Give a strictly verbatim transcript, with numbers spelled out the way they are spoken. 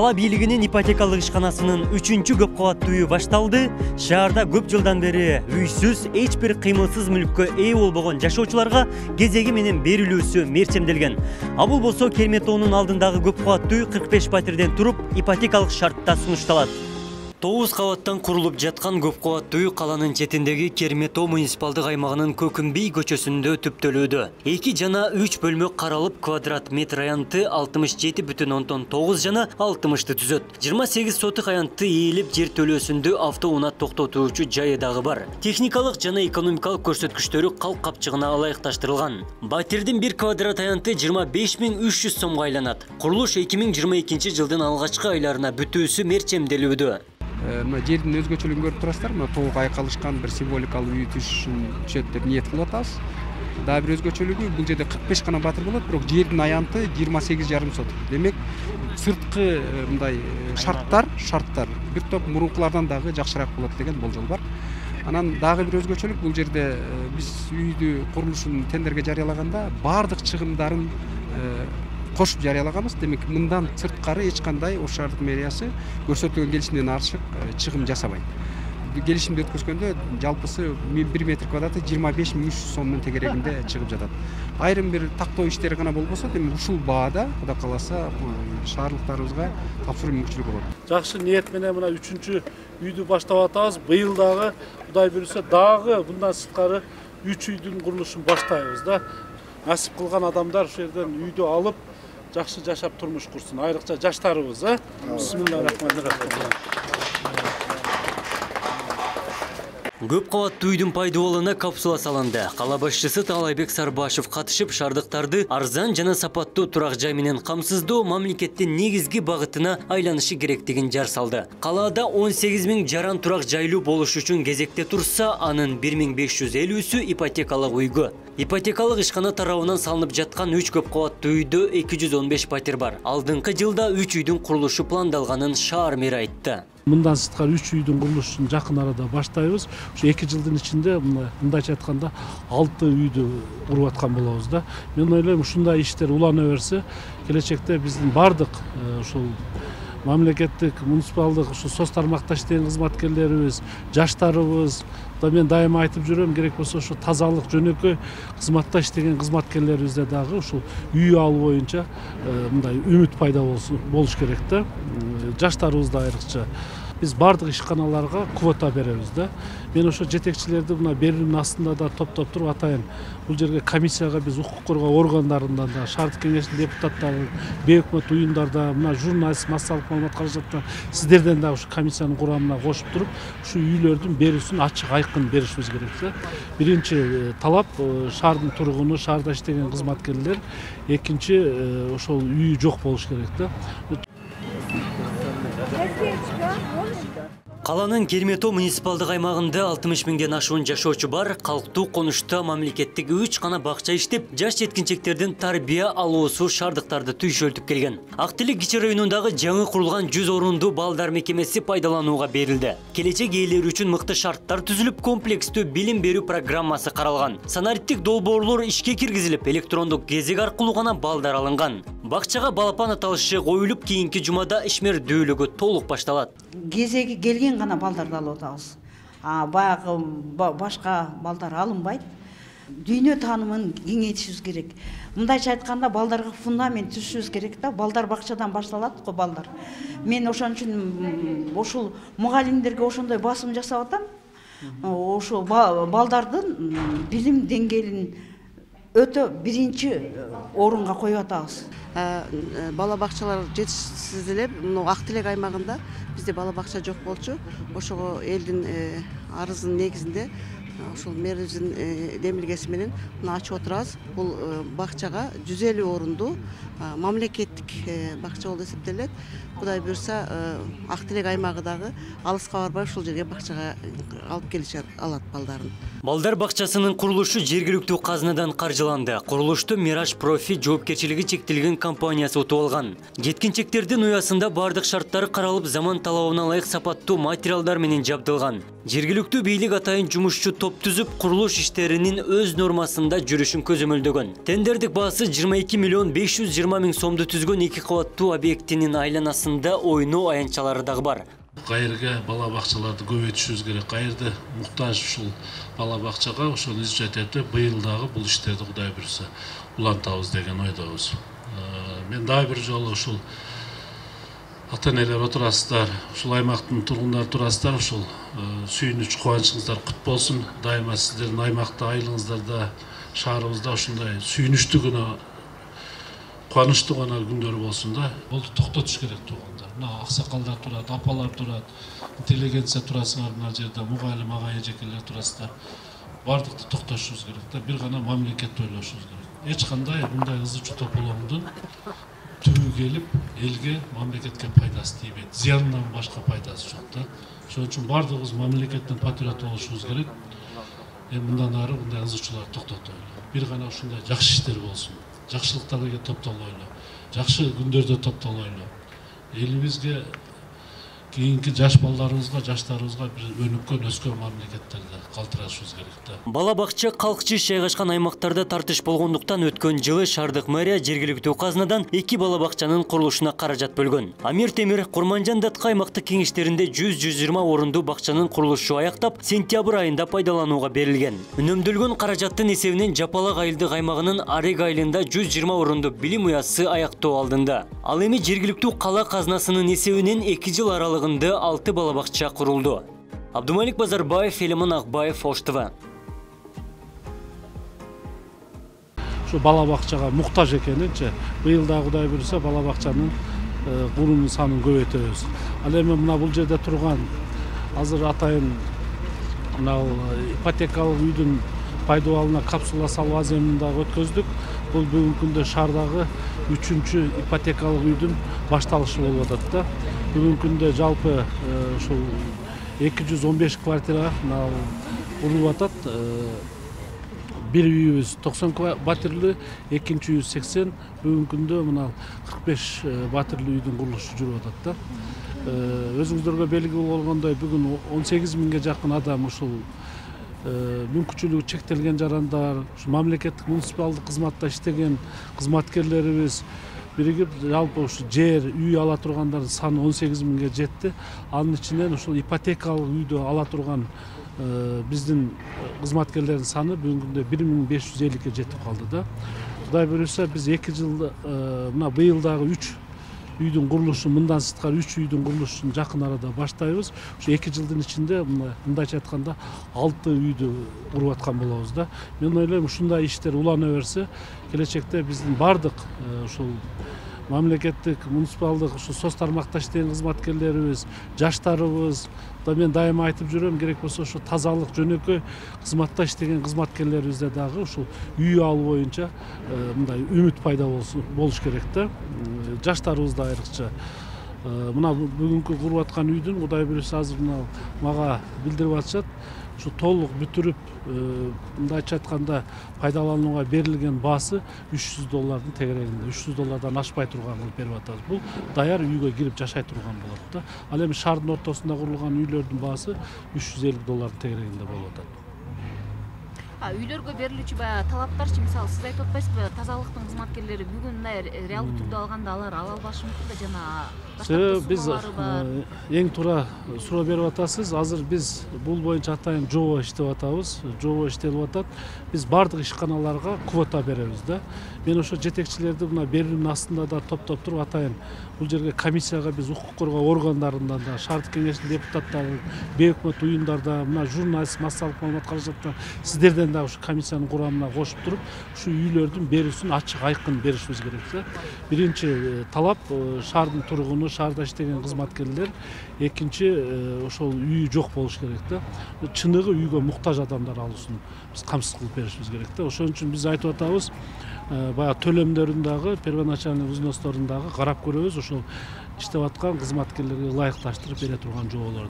Кала бийлигинин ипотекалык ишканасынын үчүнчү көп кабаттуу үйү башталды. Шаарда көп жылдан бери үйсүз, эч бир кыймылсыз мүлккө ээ болбогон жашоочуларга кезеги менен берилүүсү мерчемделген. А бул болсо Керметоонун алдындагы көп кабаттуу үй кырк беш патерден туруп, ипотекалык шартта сунушталат. Тогуз кабаттан курулуп жаткан көп кабаттуу үй каланын четиндеги Керметоо муниципалдык аймагынын Көкүмбей көчөсүндө түптөлүүдө. эки жана үч бөлмө каралып, квадрат метр аянты алтымыш жети бүтүн ондон тогуз жана алтымышты түзөт. жыйырма сегиз сотук аянты ээлип, жер төлөөсүндө автоунаа токтотуучу жайы дагы бар. Техникалык жана экономикалык көрсөткүчтөрү калк капчыгына ылайыкташтырылган. Батирдин бир квадрат аянты жыйырма беш миң үч жүз сомго айланат. Курулуш эки миң жыйырма экинчи жылдын алгачкы айларына бүтүүсү мерчемделүүдө. Мына жердин өзгөчөлүгүн көрүп турасыздар. Мына толук айкалышкан бир символикалык үй түшөт деп ниет кылып атабыз. Дагы бир өзгөчөлүгү, бул жерде кырк беш гана батир болот, бирок жердин аянты жыйырма сегиз жарым сотук. Демек, сырткы мындай шарттар, шарттар бир топ мурункулардан дагы жакшыраак болот деген болжол бар. Анан дагы бир өзгөчөлүк, бул жерде биз үйдү курулушун тендерге жарыялаганда баардык чыгымдарын кошуп жарыялаганбыз. Демек, мындан сырткары эч кандай ош шаардык мэриясы көрсөтүлгөн келишимден артык чыгым жасабайт. Келишимди өткөзгөндө жалпысы бир метр квадраты жыйырма беш миң үч жүз сомдун тегерегинде чыгып жатат. Айрым бир тактоо иштери гана болбосо, демек ушул баада Кудай кааласа шаарлыктарыбызга тапшыруу мүмкүнчүлүгү болот. Жакшы ниет менен мына үчүнчү үйдү баштап атабыз. Быйыл дагы Кудай буйруса дагы мындан сырткары үч үйдүн курулушун баштайбыз да. Насип кылган адамдар ушул жерден үйдү алып жакшы жашап турмуш курсун. Айрыкча жаштарыбыз, э? Бисмиллахиррахманиррахим. Көп кабаттуу үйдүн пайдаланууна капсула салынды. Кала башчысы Таалайбек Сарбашев катышып, шаардыктарды арзан жана сапаттуу турак жай менен камсыздоо мамлекеттин негизги багытына айланышы керектигин жар салды. Калаада он сегиз миң жаран турак жайлуу болуш үчүн кезекте турса, анын бир миң беш жүз элүүсү ипотекалык үйгө. Ипотекалык ишкана тарабынан салынып жаткан үч көп кабаттуу үйдө эки жүз он беш патер бар. Алдыңкы жылда үч үйдүн курулушу пландалганын шаар мэри айтты. Мындан сырткары үч үйдүн курулушун жакын арада баштайбыз. Ушу эки жылдын ичинде мындайча айтканда алты үйдү куруп аткан болобуз да. Мен ойлойм, ушундай иштер улана берсе, келечекте биздин бардык ушул мамлекеттик, муниципалдык ушу соц тармакта иштеген кызматкерлерибиз, жаштарыбыз, да мен дайыма айтып жүрөм, керек болсо ушу тазалык жөнөкөй кызматта иштеген кызматкерлерибизде дагы ушул үй алуу боюнча мындай үмүт пайда болуш керек да. Жаштарыбызда айрыкча биз бардык ишканаларга квота беребиз да. Мен ошо жетекчилерди мына берүүнүн астында да топтоп туруп атайын. Бул жерге комиссияга биз укук коргоо органдарынан да, шаардык кеңештин депутаттары, бейөкмөт уюмдарда, мына журналист, массалык маалымат каражаттан сиздерден дагы ушу комиссиянын курамына кошуп туруп, ушу үйлөрдүн берүүсүн ачык айкын беришибиз керек да. Биринчи талап шаардын тургуну, шаарда иштеген кызматкерлер, экинчи ошол үй жок болуш керек да. Каланын Керметоо муниципалдык аймагында алтымыш миңден ашуун жашоочу бар. Калктуу конушта мамлекеттик үч гана бакча иштеп, жаш жеткинчектердин тарбия алуусу шаардыктарды түйшөлтүп келген. Ак Телек кичи районундагы жаңы курулган жүз орундуу балдар мекемеси пайдаланууга берилди. Келечек ээлери үчүн мыкты шарттар түзүлүп, комплекстүү билим берүү программасы каралган. Санариттик долбоорлор ишке киргизилип, электрондук кезек аркылуу гана балдар алынган. Бакчага балапан аталышы коюлуп, кийинки жумада ишмердүүлүгү толук башталат. Кезеги келген гана балдарды алып атабыз. А баягы башка балдар алынбайт. Дүйнө таанымын кеңейтишибиз керек. Мындайча айтканда, балдарга фундамент түзүшүбүз керек да. Балдар бакчадан башталат го балдар. Мен ошон үчүн ушул мугалимдерге ошондой басым жасап атам. Ошо балдардын билим деңгээлин өтө биринчи орунга коюп атабыз. Бала бакчалар жетишсиз эле Ак Телек аймагында бизде бала бакча жок болчу. Ошого элдин арызынын негизинде ушул мэрибиздин демилгеси менен ачып отурабыз. Бул бакчага жүз элүү орундуу мамлекеттик бакча болуп эсептелет. Кудай буйруса, Ак Телек аймагы дагы алыска барбай ушул жерге бакчага алып келишер алат балдарын. Балдар бакчасынын курулушу жергиликтүү казынадан каржыланды. Курулушту Мираж Профи жоопкерчилиги чектелген компаниясы утуп алган. Жеткинчектердин уясында бардык шарттары каралып, заман талабына ылайык сапаттуу материалдар менен жабдылган. Жергиликтүү бийлик атайын жумушчу топ топ түзүп, курулуш иштеринин өз нормасында жүрүшүн көзөмөлдөгөн. Тендердик баасы жыйырма эки миллион беш жүз жыйырма миң сомду түзгөн эки кабаттуу объектинин айланасында ойноо аянтчалары дагы бар. Кайерге бала бакчаларды көбөйтүшүбүз керек. Кайерде муктаж ушул бала бакчага ошол инициативде быйыл дагы бул иштерди Кудай буйрса улантабыз деген ойдобуз. Мен дагы бир жолу ушул ата-энелер отурасыздар, ушул аймактын тургундары турасыздар, ушул сүйүнүч, кубанычыңыздар кут болсун. Дайыма сиздердин аймакта айлыгыңыздарда, шаарыбызда ушундай сүйүнүчтүү гана, кубанычтуу гана күндөр болсун да. Болду токтотуш керек туугандар. Мына аксакалдар турат, апалар турат, интеллигенция турасыңар мына жерде, мугалим ага эжекелер турасыздар. Бардыкты токтотушубуз керек да, бир гана мамлекетти ойлошубуз керек. Эч кандай мындай ызы чуу тополоңдун түбү келип, элге, мамлекетке пайдасы тийбейт. Зыянынан башка пайдасы жок да. Ошон үчүн бардыгыбыз мамлекеттин патриоты болушубуз керек. Эми мындан ары мындай ызы чууларды токтотойлу. Бир гана ушундай жакшы иштер болсун. Жакшылыктарга топтолойлу. Жакшы күндөрдө топтолойлу. Элибизге, кийинки жаш балдарыбызга, жаштарыбызга бир өнүккөн, өскөн мамлекеттерде калтырашыбыз керек да. Бала бакча калкчы жайгашкан аймактарда тартыш болгондуктан өткөн жылы шаардык мэрия жергиликтүү казынадан эки бала бакчанын курулушуна каражат бөлгөн. Амир Темир Курманжан Датка аймактык кеңештеринде жүз жүз жыйырма орунду бакчанын курулушу аяктап, сентябрь айында пайдаланууга берилген. Үнөмдөлгөн каражаттын эсебинен Жапалак айылдык аймагынын Арег айылында жүз жыйырма орунду билим уясы аяктоо алдында. Ал эми жергиликтүү кала казынасынын эсебинен эки жыл аралыгында алты бала бакча курулду. Абдумалик Базарбаев, Элиман Акбаев, Ош ТВ. Şu bala bakçaga muhtaç ekeninçe bıyıl da Kuday buyursa bala bakçanın kurunun sanын көбөйтөбүз. Ал эми мына бул жерде турган азыр атайын мына ипотекалык үйдүн пайдаланууна капсула салуу аземин дагы өткөздүк. Бул бүгүнкү күндө шаардагы үчүнчү ипотекалык үйдүн башталышы болуп атат да. Бүгүнкү күндө жалпы ушул эки жүз он беш квартира курулуп атат. Бир үйүбүз токсон батирлүү, экинчи үйүбүз сексен, бүгүнкү күндө мына кырк беш батирлүү үйдүн курулушу жүрүп атат да. Өзүңүздөргө белгилүү болгондой бүгүн он сегиз миңге жакын адам ушул мүмкүнчүлүгү чектелген жарандар, мамлекеттик муниципалдык кызматта иштеген кызматкерлерибиз биригип жалпы ушу жер, үй ала тургандардын саны он сегиз миңге жетти. Анын ичинен ушул ипотекалык үйдү ала турган биздин кызматкерлердин саны бүгүнкү күндө бир миң беш жүз элүүгө жетип калды да. Кудай буйрса биз эки жыл мына быйыл дагы үч үйдүн курулушун, мындан сырткары үч үйдүн курулушун жакын арада баштайбыз. Ушу эки жылдын ичинде мындайча айтканда алты үйдү куруп аткан болобуз да. Мен ойлойм ушундай иштер улана берсе, келечекте биздин бардык ушул мамлекеттик, муниципалдык, ушу соц тармакта иштеген кызматкерлерибиз, жаштарыбыз, да мен дайыма айтып жүрөм, керек болсо ушу тазалык, жөнөкөй кызматта иштеген кызматкерлерибизде дагы ушул үй алуу боюнча мындай үмүт пайда болуш керек да. Жаштарыбызда айрыкча мына бүгүнкү куруп аткан үйдүн Кудай буйрса азыр мына мага билдирип атышат. Ушу толук бүтүрүп, мындайча айтканда пайдаланууга берилген баасы үч жүз доллардын тегерегинде, үч жүз доллардан ашпай турган кылып берип атабыз. Бул даяр үйгө кирип жашай турган болот да. Ал эми шаардын ортосунда курулган үйлөрдүн баасы үч жүз элүү доллардын тегерегинде болуп атат. Үйлөргө берилүүчү баягы талаптарчы, мисалы сиз айтып атпайсызбы, тазалыктын кызматкерлери бүгүн мындай реалдуу түрдө алганда алар ала албашы мүмкүн да, жана башка биз эң туура суроо берип атасыз. Азыр биз бул боюнча атайын жобо иштеп атабыз. Жобо иштелип атат. Биз бардык ишканаларга квота беребиз да. Мен ошо жетекчилерди мына берүүнүн астында да топтоп туруп атайын бул жерге комиссияга биз укук коргоо органдарынан да, шаардык кеңештин депутаттары, бейөкмөт уюмдарда, мына журналист, массалык маалымат каражаттан сиздерден да ушу комиссиянын курамына кошуп туруп, ушу үйлөрдүн берүүсүн ачык айкын беришибиз керек да. Биринчи талап шаардын тургуну, шаарда иштеген кызматкерлер, экинчи ошол үйү жок болуш керек да. Чыныгы үйгө муктаж адамдар алуусун биз камсыз кылып беришибиз керек да. Ошон үчүн биз айтып атабыз, баягы төлөмдөрүн дагы, первоначальный взносторун дагы карап көрөбүз, ошол иштеп аткан кызматкерлерге ылайыкташтырып бере турган жоболор.